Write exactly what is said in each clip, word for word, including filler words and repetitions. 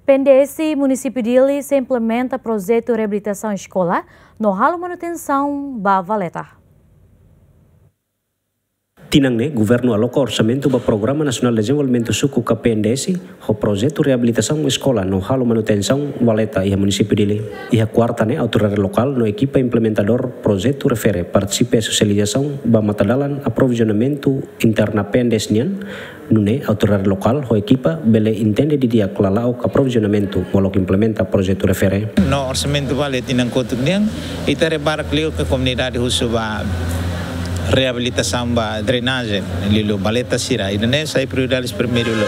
PNDS Munisípiu Dili sei implementa projetu reabilitasaun eskola no halo manutensaun ba valeta. Tinan ne'e, governu aloka orsamentu ba Programa Nasionál Dezenvolvimentu Suku ka PNDS, ho projetu reabilitasaun eskola no halo manutensaun valeta iha Munisípiu Dili. Iha kuarta ne'e, autoridade lokál no ekipa implementadór projetu refere partisipa iha sosializasaun ba matadalan aprovizionamentu interna PNDS nian, nune'e autoridade lokál ho ekipa bele entende didi'ak lala'ok aprovizionamentu molok implementa projetu refere. No orsamentu ba lia tinan kotuk nian, ita haree barak liu ke komunidade husu ba reabilitasaun ba drenajen, liuliu valeta sira. Ida-ne'e sai prioridade primeiru lo.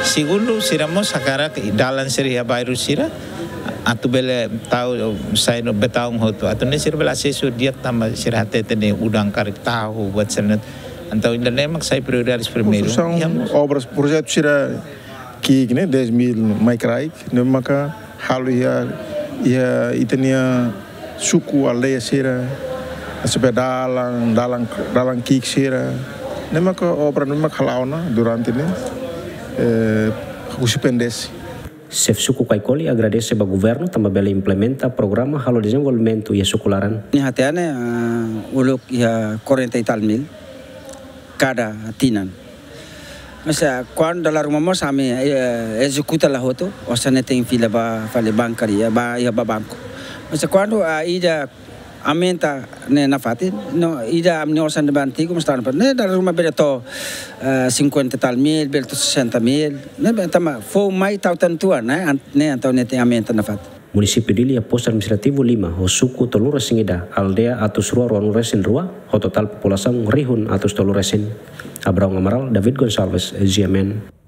Segundu, sira mós hakarak dalan sira iha bairru sira atu bele tau sai no betaun hotu. Atu nune'e sira bele asesu di'ak tanba sira hatete ne'e udan karik tahu buat sira-ne'e. Entaun ida-ne'e mak sai prioridade primeiru. Konstrusaun, iha mós obras, projetu sira ki'ik ne'e, dez mil mai kraik, ne'e maka halo iha, iha ita-nia suku aldeia sira, seperti dalan, dalan, dalan ki'ik sira. Ne'e maka obra ne'e maka hala'o ona durante ne'e, eh, husi PNDS. Xefe suku Kaikoli agradese ba governu tanba bele implementa programa halo dezenvolvimentu iha suku laran. Nia hatene, ah, uluk iha quarenta e tal mil kada tinan. Mas, ah, kuandu dala ruma mós ami, eh, ezekuta la hotu, osan ne'e tenke fila ba fali bankaria, ba, iha ba banku. Mas kuandu, ah, ida aumenta ne'e nafatin, no ida ami-nia osan ne'ebé antigu mós tan pa. Ne'e dala ruma bele to'o, eh, cinquenta e tal mil, bele to'o sessenta mil. Ne'ebé tanba foun mai tau tan tua, ne'e, an-, ne'e entaun ne'e tenke aumenta nafatin. Munisípiu Dili iha postu administrativu lima, ho suku tolu-resin-ida, aldeia atus rua ruanulu-resin-rua, ho totál populasaun rihun atus tolu-resin. Abraão Amaral, David Gonçalves, GMN.